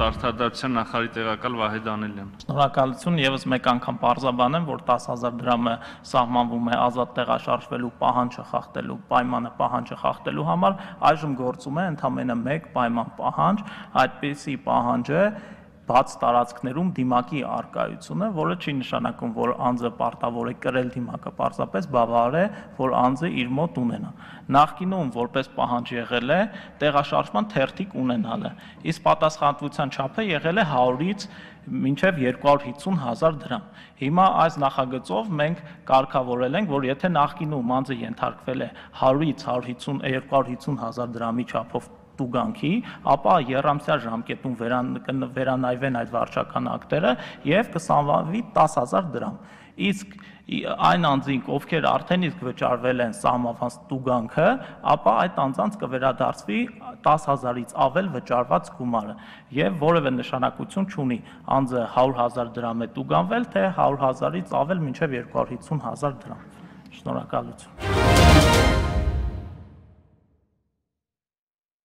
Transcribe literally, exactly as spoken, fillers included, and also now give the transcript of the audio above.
Արդարադատության նախարարի տեղակալ Վահե Դանելյան։ Շնորհակալություն, եւս մեկ անգամ պարզաբանեմ, որ տասը հազար դրամը սահմանվում է ազատ տեղաշարժվելու պահանջը խախտելու պայմանը պահանջը խախտելու համար, այժմ գործում է ընդամենը մեկ պայման պահանջ, այդպիսի պահանջը բաց տարածքներում դիմակի արկայությունը, որը չի նշանակում, որ անձը պարտավոր է կրել դիմակը, պարզապես բավարար է, որ անձը իր մոտ ունենա։ Նախկինում որպես պահանջ եղել է տեղաշարժման թերթիկ ունենալը, իսկ պատասխանատվության չափը եղել է հարյուրից մինչև երկու հարյուր հիսուն հազար դրամ։ Հիմա այս նախագծով մենք կարգավորել ենք, որ եթե նախկինում անձը ենթարկվել է հարյուրից երկու հարյուր հիսուն հազար դրամի չափով տուգանքի, ապա եռամսյա ժամկետում վերանայվեն այդ վարչական ակտերը եւ կսահմանվի տասը հազար դրամ։ Իսկ այն անձինք, ովքեր արդեն իսկ վճարվել են սահմանված տուգանքը, ապա այդ անձանց կվերադարձվի տասը հազարից ավել վճարված գումարը եւ որևէ նշանակություն չունի անձը հարյուր հազար դրամ է տուգանվել, թե հարյուր հազարից ավել մինչեւ երկու հարյուր հիսուն հազար դրամ։ Շնորհակալություն։